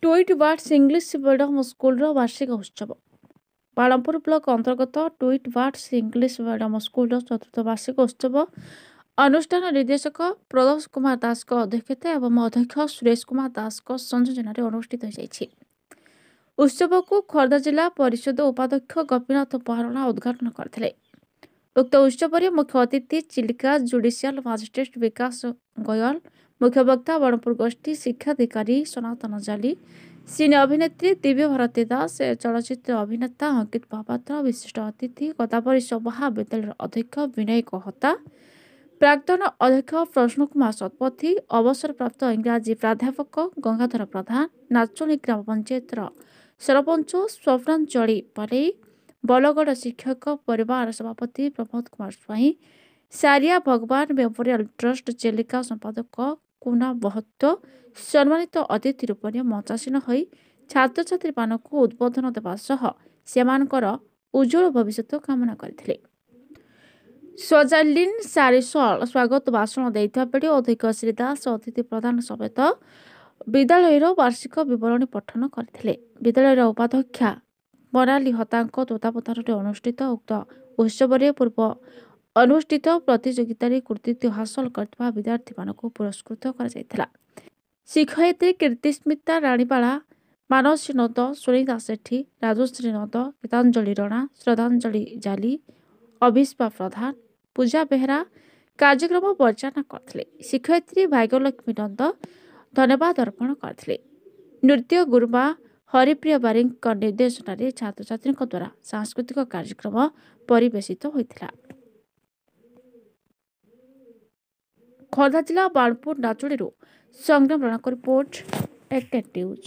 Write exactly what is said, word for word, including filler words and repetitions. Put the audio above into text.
Tweet birds English medium ସ୍କୁଲର ବାର୍ଷିକ ଉତ୍ସବ। ବାଣପୁର ବ୍ଲକ ଅନ୍ତର୍ଗତ ଟ୍ୱିଟ୍ ବାର୍ଡସ୍ ଇଂଲିଶ ମିଡିୟମ ସ୍କୁଲର ଚତୁର୍ଥ ବାର୍ଷିକ ଉତ୍ସବ ଅନୁଷ୍ଠାନ ନିର୍ଦ୍ଦେଶକ ପ୍ରଦୋଷ କୁମାର ଦାସଙ୍କ ଅଧ୍ୟକ୍ଷତା ଏବଂ ଅଧ୍ୟକ୍ଷ ସୁରେଶ କୁମାର ଦାସଙ୍କ ସଂଯୋଜନାରେ ଅନୁଷ୍ଠିତ ହୋଇଯାଇଛି। ଉତ୍ସବକୁ ଖୋର୍ଦ୍ଧା ଜିଲ୍ଲା ପରିଷଦ ଉପାଧ୍ୟକ୍ଷ ଗୋପୀନାଥ ମହାରଣା ଉଦ୍ଘାଟନ କରିଥିଲେ। ଉକ୍ତ ଉତ୍ସବରେ ମୁଖ୍ୟ ଅତିଥି ଚିଲିକା ଜୁଡିସିଆଲ ମାଜିଷ୍ଟ୍ରେଟ ବିକାଶ ଗୋୟଲ, ମୁଖ୍ୟ ବକ୍ତା ବାଣପୁର ଗୋଷ୍ଠୀ ଶିକ୍ଷାଧିକାରୀ ସନାତନ ଜାଲି, ସିନେ ଅଭିନେତ୍ରୀ ଦିବ୍ୟ ଭାରତୀ ଦାସ, ଚଳଚ୍ଚିତ୍ର ଅଭିନେତା ଅଙ୍କିତ ମହାପାତ୍ର, ବିଶିଷ୍ଟ ଅତିଥି ଗଦାବରୀଶ ମହାବିଦ୍ୟାଳୟର ଅଧ୍ୟକ୍ଷ ବିନୟ କହତା, ପ୍ରାକ୍ତନ ଅଧ୍ୟକ୍ଷ ପ୍ରଶ୍ନ କୁମାର ଶତପଥୀ, ଅବସରପ୍ରାପ୍ତ ଇଂରାଜୀ ପ୍ରାଧ୍ୟାପକ ଗଙ୍ଗାଧର ପ୍ରଧାନ, ନାଚୁଣୀ ଗ୍ରାମ ପଞ୍ଚାୟତର ସରପଞ୍ଚ ସ୍ୱପ୍ନାଞ୍ଚଳି ପଲେଇ, ବଲଗଡ଼ ଶିକ୍ଷକ ପରିବାର ସଭାପତି ପ୍ରମୋଦ କୁମାର ସ୍ୱାଇଁ, ସାରିଆ ଭଗବାନ ମେମୋରିଆଲ ଟ୍ରଷ୍ଟ ଚିଲିକା ସମ୍ପାଦକ କୁନା ମହତ୍ୱ ସମ୍ମାନିତ ଅତିଥି ରୂପରେ ମଞ୍ଚାସୀନ ହୋଇ ଛାତ୍ରଛାତ୍ରୀମାନଙ୍କୁ ଉଦ୍ବୋଧନ ଦେବା ସହ ସେମାନଙ୍କର ଉଜ୍ଜଳ ଭବିଷ୍ୟତ କାମନା କରିଥିଲେ। ସଜାଲିନ୍ ସାରିସଲ ସ୍ୱାଗତ ଭାଷଣ ଦେଇଥିବା ବେଳେ ଅଧ୍ୟକ୍ଷ ଶ୍ରୀ ଦାସ ଅତିଥି ପ୍ରଧାନ ସମେତ ବିଦ୍ୟାଳୟର ବାର୍ଷିକ ବିବରଣୀ ପଠନ କରିଥିଲେ। ବିଦ୍ୟାଳୟର ଉପାଧ୍ୟକ୍ଷା ମୋନାଲି ହତାଙ୍କ ତତ୍ତ୍ୱାବଧାନରେ ଅନୁଷ୍ଠିତ ଉକ୍ତ ଉତ୍ସବରେ ପୂର୍ବ ଅନୁଷ୍ଠିତ ପ୍ରତିଯୋଗିତାରେ କୃତିତ୍ୱ ହାସଲ କରିଥିବା ବିଦ୍ୟାର୍ଥୀମାନଙ୍କୁ ପୁରସ୍କୃତ କରାଯାଇଥିଲା। ଶିକ୍ଷୟିତ୍ରୀ କୀର୍ତ୍ତିସ୍ମିତା ରାଣୀବାଳା, ମାନସୀ ନନ୍ଦ, ସୁନିତା ସେଠୀ, ରାଜଶ୍ରୀ ନନ୍ଦ, ଗୀତାଞ୍ଜଳି ରଣା, ଶ୍ରଦ୍ଧାଞ୍ଜଳି ଜାଲି, ଅଭିଷ୍ପା ପ୍ରଧାନ, ପୂଜା ବେହେରା କାର୍ଯ୍ୟକ୍ରମ ପରିଚାଳନା କରିଥିଲେ। ଶିକ୍ଷୟିତ୍ରୀ ଭାଗ୍ୟଲକ୍ଷ୍ମୀ ନନ୍ଦ ଧନ୍ୟବାଦ ଅର୍ପଣ କରିଥିଲେ। ନୃତ୍ୟ ଗୁରୁମା ହରିପ୍ରିୟ ବାରିକଙ୍କ ନିର୍ଦ୍ଦେଶନାରେ ଛାତ୍ରଛାତ୍ରୀଙ୍କ ଦ୍ୱାରା ସାଂସ୍କୃତିକ କାର୍ଯ୍ୟକ୍ରମ ପରିବେଷିତ ହୋଇଥିଲା। ଖୋର୍ଦ୍ଧା ଜିଲ୍ଲା ବାଣପୁର ନାଚୁଣୀରୁ ସଂଗ୍ରାମ ରଣାଙ୍କ ରିପୋର୍ଟ, ଏକ୍ ନ୍ୟୁଜ୍।